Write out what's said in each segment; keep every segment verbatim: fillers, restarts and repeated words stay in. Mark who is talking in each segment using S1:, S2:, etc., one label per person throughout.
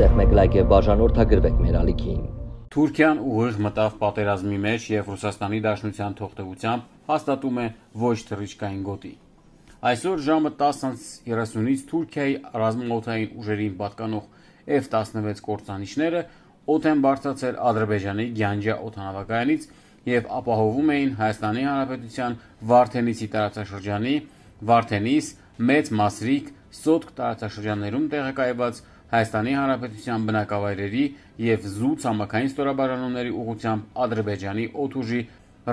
S1: սեղմեք լայք եւ բաժանորդագրվեք մեր ալիքին։
S2: Թուրքիան ուղիղ մտավ պատերազմի մեջ եւ Ռուսաստանի Դաշնության թողտվությամբ հաստատում է ոչ թռիչքային գոտի։ Այսօր ժամը տասը երեսունից Թուրքիայի ռազմաօդային ուժերին պատկանող F տասնվեց կործանիչները օդ են բարձրացել Ադրբեջանի Գյանջա օդանավակայանից եւ ապահովում էին Հայաստանի Հանրապետության Վարդենիսի տարածաշրջանի, Վարդենիս, Մեծ Մասրիկ, Սոտք տարածաշրջաններում տեղակայված Հայաստանի Հանրապետության բնակավայրերի եւ Զու ցամաքային ստորաբաժանումների ուղղությամբ Ադրբեջանի օդուժի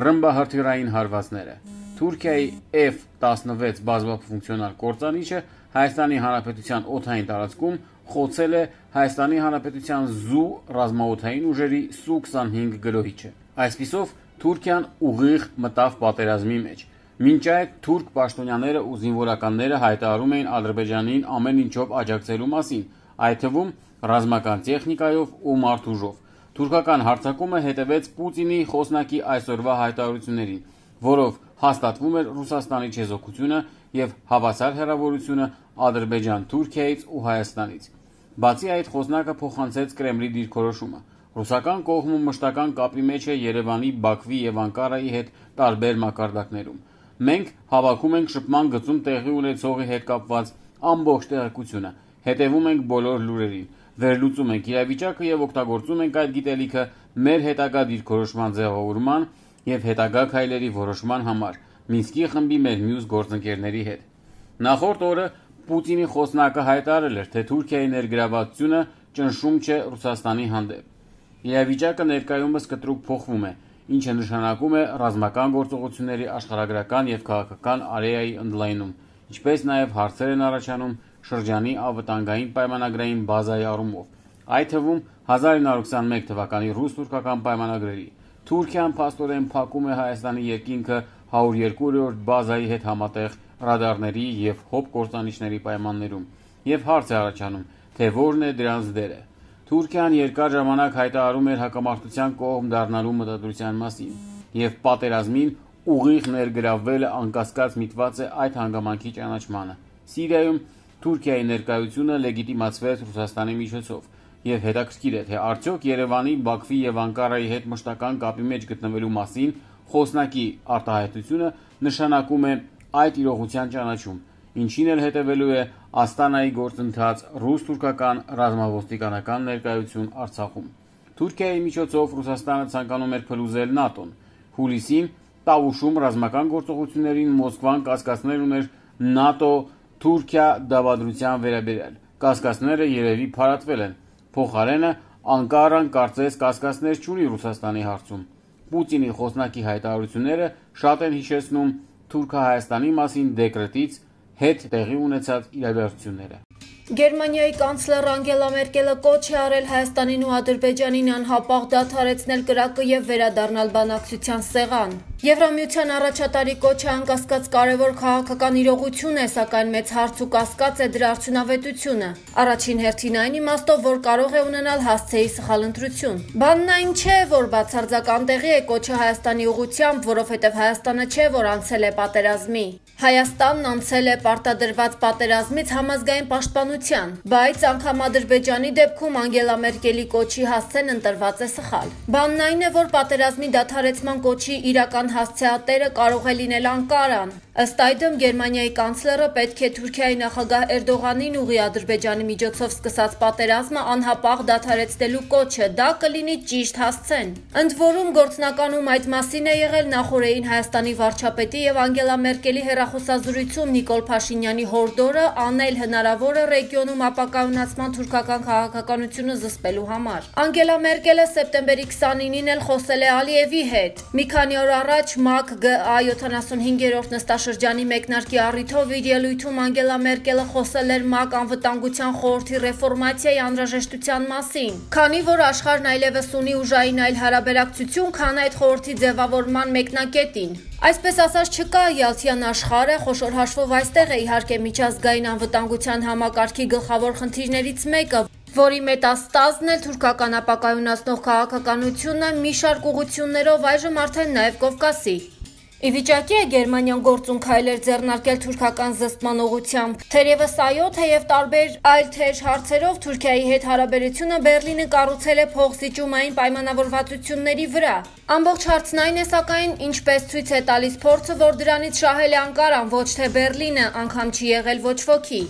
S2: ռմբահրթիռային հարվածները։ Թուրքիայի F տասնվեց բազմաֆունկցիոնալ կործանիչը Հայաստանի Հանրապետության օդային տարածքում խոցել է Հայաստանի Հանրապետության Զու ռազմաօդային ուժերի Սու քսանհինգ գրոհիչը։ Այսպիսով Թուրքիան ուղիղ մտավ պատերազմի մեջ։ Մինչ այդ թուրք պաշտոնյաները ու զինվորականները հայտարարում էին Ադրբեջանին ամեն ինչով աջակցելու մասին, այդ թվում ռազմական տեխնիկայով ու մարդուժով։ Թուրքական հարձակումը հետևեց Պուտինի խոսնակի այսօրվա հայտարարություններին, որով հաստատվում էր Ռուսաստանի չեզոքությունը եւ հավասար հեռավորությունը Ադրբեջան-Թուրքիայից ու Հայաստանից։ Բացի այդ, խոսնակը փոխանցեց Կրեմլի դիրքորոշումը։ Ռուսական կողմը մշտական կապի մեջ է Երևանի, Բաքվի եւ Անկարայի հետ տարբեր մակարդակներում։ Մենք հավաքում ենք շփման գծում տեղի ունեցողի հետ կապված ամբողջ տեղեկությունը, հետևում ենք բոլոր լուրերին, վերլուծում ենք իրավիճակը եւ օգտագործում ենք այդ գիտելիքը մեր հետագա դիրքորոշման ձևավորման եւ հետագա քայլերի որոշման համար Մինսկի խմբի մեր մյուս գործընկերների հետ։ Նախորդ օրը Պուտինի խոսնակը հայտարարել էր, թե Թուրքիայի ներգրավվածությունը ճնշում չէ Ռուսաստանի հանդեպ։ Իրավիճակը ներկայումս կտրուկ փոխվում է, ինչը նշանակում է ռազմական գործողությունների աշխարհագրական եւ քաղաքական արեայի ընդլայնում, ինչպես նաեւ հարցեր են առաջանում շրջանի անվտանգային պայմանագրային բազայի առումով, այդ թվում հազար ինը հարյուր քսանմեկ թվականի ռուս-թուրքական պայմանագրերի։ Թուրքիան փաստորեն փակում է Հայաստանի երկինքը հարյուր երկու-րդ բազայի հետ համատեղ ռադարների եւ հոբ կործանիչների պայմաններում, եւ հարց է առաջանում, թե որն է դրանց դերը։ Թուրքիան երկար ժամանակ հայտարարում էր հակամարտության կողմ դառնալու մտադրության մասին, եւ պատերազմին ուղիղ ներգրավվելը անկասկած միտված է այդ հանգամանքի ճանաչմանը։ Սիրիայում Թուրքիայի ներկայությունը լեգիտիմացվեց Ռուսաստանի միջոցով, եւ հետաքրքիր է, թե արդյոք Երևանի, Բաքվի եւ Անկարայի հետ մշտական կապի մեջ գտնվելու մասին խոսնակի արտահայտությունը նշանակում է այդ իրողության ճանաչում, ինչին էլ հետևելու է Աստանայի գործընթաց ռուս-թուրքական ռազմավոստիկանական ներկայություն Արցախում։ Թուրքիայի միջոցով Ռուսաստանը ցանկանում էր փլուզել ՆԱՏՕ-ն։ Հուլիսին Տավուշում ռազմական գործողություններին Մոսկվան կասկածներ ուներ ՆԱՏՕ-Թուրքիա դավադրության վերաբերյալ։ Կասկածները երևի փարատվել են։ Փոխարենը Անկարան կարծես կասկածներ չունի Ռուսաստանի հարցում։ Պուտինի խոսնակի հայտարարությունները շատ են հիշեցնում Թուրքահայաստանի մասին դեկրետից հետ տեղի ունեցած իրադարձությունները։
S3: Գերմանիայի կանցլեր Անգելա Մերկելը կոչ է արել Հայաստանին ու Ադրբեջանին անհապաղ դադարեցնել կրակը եւ վերադառնալ բանակցության սեղան։ Եվրամիության առաջատարի կոչը անկասկած կարևոր քաղաքական իրողություն է, սակայն մեծ հարց ու կասկած է դրա արդյունավետությունը։ Առաջին հերթին այն իմաստով, որ կարող է ունենալ հասցեի սխալ ընտրություն։ Բանն այն չէ, որ բացարձական տեղի է կոչը Հայաստանի ուղղությամբ, որովհետև Հայաստանը չէ, որ անցել է պատերազմի։ Հայաստանն անցել է պարտադրված պատերազմից համազգային պաշտպանության, բայց անգամ Ադրբեջանի դեպքում Անգելա Մերկելի կոչի հասցեն ընտրված է սխալ։ Բանն այն է, որ պատերազմի դադարեցման կոչի իրական հասցեատերը կարող է լինել Անկարան։ Ըստ այդմ Գերմանիայի կանցլերը պետք է Թուրքիայի նախագահ Էրդողանին ուղղի Ադրբեջանի միջոցով սկսած պատերազմը անհապաղ դադարեցնելու կոչը, դա կլինի ճիշտ հասցեն։ Ընդ որում գործնականում այդ մասին է եղել նախորդային Հայաստանի վարչապետի եւ Անգելա Մերկելի հեռախոսազրույցում Նիկոլ Փաշինյանի հորդորը անել հնարավորը ռեգիոնում ապակայունացման թուրքական քաղաքականությունը զսպելու համար։ Անգելա Մերկելը սեպտեմբերի քսանինին էլ խոսել է Ալիևի հետ։ Մի քանի օր առաջ ՄԱԿ Գ A յոթանասունհինգերորդ նստաշրջանի մեկնարկի առիթով իր ելույթում Անգելա Մերկելը խոսել էր ՄԱԿ անվտանգության խորհրդի ռեֆորմացիայի անհրաժեշտության մասին, քանի որ աշխարհն այլևս ունի ուժային այլ հարաբերակցություն, քան այդ խորհրդի ձևավորման մեկնակետին։ Այսպես ասած չկա Յալթյան աշխարհը, խոշոր հաշվով այստեղ է իհարկե միջազգային անվտանգության համակարգի գլխավոր խնդիրներից մեկը, որի մետաստազն էլ թուրքական ապակայունացնող քաղաքականությունը մի շարք ուղղություններով այժմ արդեն նաև Կովկասի։ Ի վիճակի է Գերմանիան գործուն քայլեր ձեռնարկել թուրքական զսպման ուղղությամբ։ Թերևս այո, թեև տարբեր այլ թեժ հարցերով Թուրքիայի հետ հարաբերությունը Բեռլինը կառուցել է փոխզիջումային պայմանավորվածությունների վրա։ Ամբողջ հարցն այն է, սակայն, ինչպես ցույց է տալիս փորձը, որ դրանից շահել է Անկարան, ոչ թե Բեռլինը, անգամ չի եղել ոչ ոքի։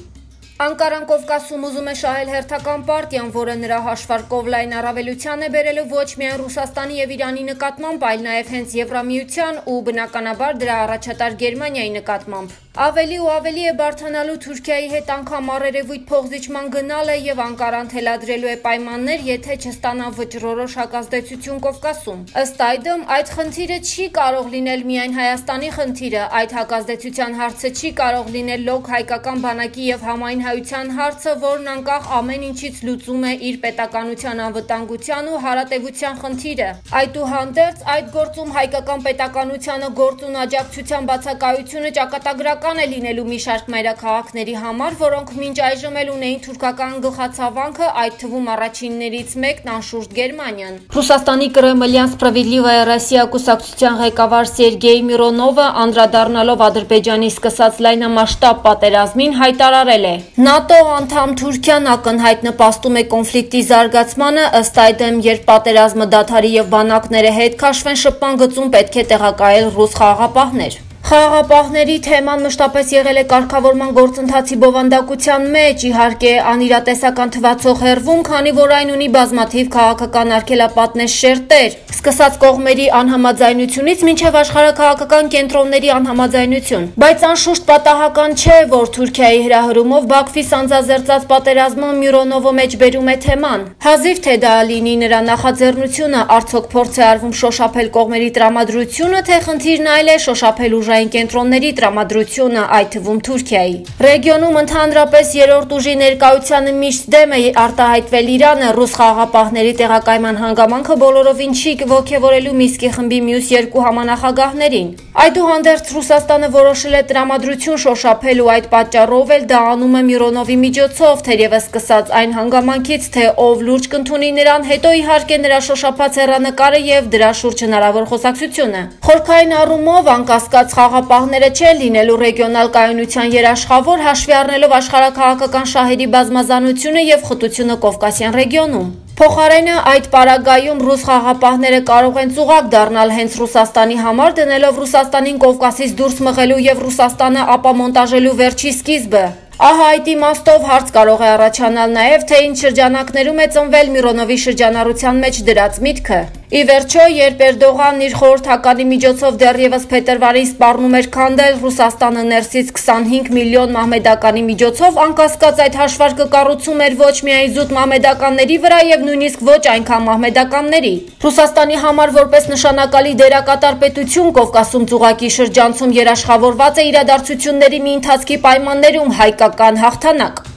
S3: Անկարան Կովկասում ուզում է շահել հերթական պարտիան, որը նրա հաշվարկով լայն առավելության է բերելու ոչ միայն Ռուսաստանի եւ Իրանի նկատմամբ, այլ նաեւ հենց Եվրամիության ու բնականաբար դրա առաջատար Գերմանիայի նկատմամբ։ Ավելի ու ավելի է բարդանալու Թուրքիայի հետ անգամ առերևույթ փոխզիջման գնալը եւ Անկարան թելադրելու է պայմաններ, եթե չստանա վճռորոշ հակազդեցություն Կովկասում։ Ըստ այդմ, այդ խնդիրը չի կարող լինել միայն Հայաստանի խնդիրը, այդ հակազդեցության հարցը չի կարող լինել լոկ հայկական բանակի եւ համայն հայության հարցը, որն անկախ ամեն ինչից լուծում է իր պետականության անվտանգության ու հարատևության խնդիրը։ Այդուհանդերձ, այդ գործում հայկական պետականությանը գործուն աջակցության բացակայությունը ճակատագրական է լինելու մի շարք մայրաքաղաքների համար, որոնք մինչ այժմ էլ ունեին թուրքական գլխացավանքը, այդ թվում առաջիններից մեկն անշուշտ Գերմանիան։ Ռուսաստանի Կրեմլյան Սպրավիդլիվայա Ռոսիա կուսակցության ղեկավար Սերգեյ Միրոնովը, անդրադառնալով Ադրբեջանի սկսած լայնամասշտաբ պատերազմին, հայտարարել է. ՆԱՏՕ անդամ Թուրքիան ակնհայտ նպաստում է կոնֆլիկտի զարգացմանը, ըստ այդմ, երբ պատերազմը դադարի եւ բանակները հետ քաշվեն շփման գծում, պետք է տեղակայել ռուս խաղաղապահներ։ Խաղաղապահների թեման մշտապես եղել է կարգավորման գործընթացի բովանդակության մեջ, իհարկե անիրատեսական թվացող հերվում, քանի որ այն ունի բազմաթիվ քաղաքական արգելապատներ շերտեր, սկսած կողմերի անհամաձայնությունից մինչև աշխարհաքաղաքական կենտրոնների անհամաձայնություն։ Բայց անշուշտ պատահական չէ, որ Թուրքիայի հրահրումով Բաքվի սանձազերծած պատերազմը Միրոնովը մեջ բերում է թեման։ Հազիվ թե դա լինի նրա նախաձեռնությունը, արդյոք փորձ է արվում շոշափել կողմերի տրամադրությունը, թե խնդիրն այլ է շոշափել ուժային կենտրոնների տրամադրությունը, այդ թվում Թուրքիայի։ Ռեգիոնում ընդհանրապես երրորդ ուժի ներկայությանը միշտ դեմ է արտահայտվել Իրանը, ռուս խաղաղապահների տեղակայման հանգամանքը բոլորովին չի ոգևորելու Մինսկի խմբի մյուս երկու համանախագահներին։ Այդուհանդերձ Ռուսաստանը որոշել է տրամադրություն շոշափել ու այդ պատճառով էլ դա անում է Միրոնովի միջոցով, թերևս սկսած այն հանգամանքից, թե ով լուրջ կընդունի նրան, հետո իհարկե նրա շոշափած հեռանկարը եւ դրա շուրջ հնարավոր խոսակցությունը։ Խորքային առումով անկասկած խաղաղապահները չեն լինելու ռեգիոնալ կայունության երաշխավոր, հաշվի առնելով աշխարհաքաղաքական շահերի բազմազանությունը եւ խտությունը Կովկասյան ռեգիոնում։ Փոխարենը այդ պարագայում ռուս խաղաղապահները կարող են ծուղակ դառնալ հենց Ռուսաստանի համար, դնելով Ռուսաստանին Կովկասից դուրս մղելու եւ Ռուսաստանը ապամոնտաժելու վերջի սկիզբը։ Ահա այդ իմաստով հարց կարող է առաջանալ նաև, թե ինչ շրջանակներում է ծնվել Միրոնովի շրջանառության մեջ դրած միտքը։ Ի վերջո, երբ Էրդողանն իր խորհրդականի միջոցով դեռևս փետրվարին սպառնում էր քանդել Ռուսաստանը ներսից քսանհինգ միլիոն մահմեդականի միջոցով, անկասկած այդ հաշվարկը կառուցում էր ոչ միայն զուտ մահմեդականների վրա եւ նույնիսկ ոչ այնքան մահմեդականների։ Ռուսաստանի համար որպես նշանակալի դերակատար պետություն Կովկասում ծուղակի շրջանցում երաշխավորված է իրադարձությունների մի ընթացքի պայմաններում հայկական հաղթանակ։